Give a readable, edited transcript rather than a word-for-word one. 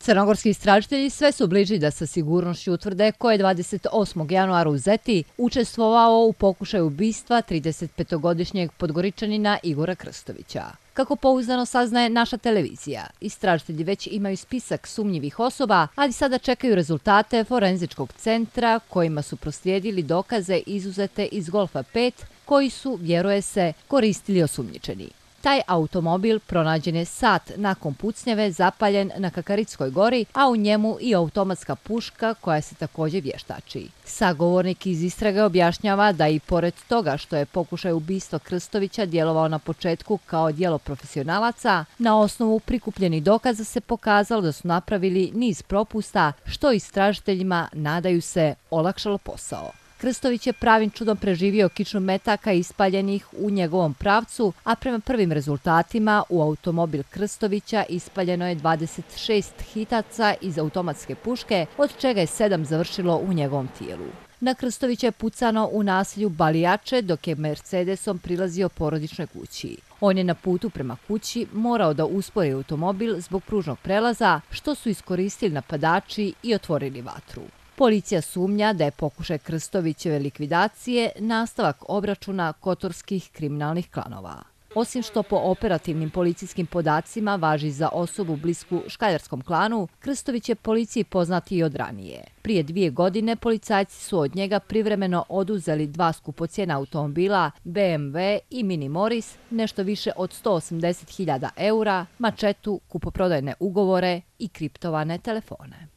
Crnogorski istražitelji sve su bliži da sa sigurnošću utvrde ko je 28. januara u Zeti učestvovao u pokušaju ubistva 35-godišnjeg Podgoričanina Igora Krstovića. Kako pouzdano saznaje naša televizija, istražitelji već imaju spisak sumnjivih osoba, ali sada čekaju rezultate forenzičkog centra kojima su proslijedili dokaze izuzete iz Golfa 5 koji su, vjeruje se, koristili osumnjičeni. Taj automobil pronađen je sat nakon pucnjave zapaljen na Kakaritskoj gori, a u njemu i automatska puška koja se također vještači. Sagovornik iz istrage objašnjava da i pored toga što je pokušaj ubistva Krstovića djelovao na početku kao djelo profesionalaca, na osnovu prikupljenih dokaza se pokazalo da su napravili niz propusta što istražiteljima, nadaju se, olakšalo posao. Krstović je pravim čudom preživio kiču metaka ispaljenih u njegovom pravcu, a prema prvim rezultatima u automobil Krstovića ispaljeno je 26 hitaca iz automatske puške, od čega je 7 završilo u njegovom tijelu. Na Krstovića je pucano u naselju Balijače dok je Mercedesom prilazio porodičnoj kući. On je na putu prema kući morao da uspori automobil zbog pružnog prelaza, što su iskoristili napadači i otvorili vatru. Policija sumnja da je pokušaj Krstovićeve likvidacije nastavak obračuna kotorskih kriminalnih klanova. Osim što po operativnim policijskim podacima važi za osobu blisku škaljarskom klanu, Krstović je policiji poznat i od ranije. Prije 2 godine policajci su od njega privremeno oduzeli 2 skupocjena automobila BMW i Mini Morris, nešto više od 180.000 eura, mačetu, kupoprodajne ugovore i kriptovane telefone.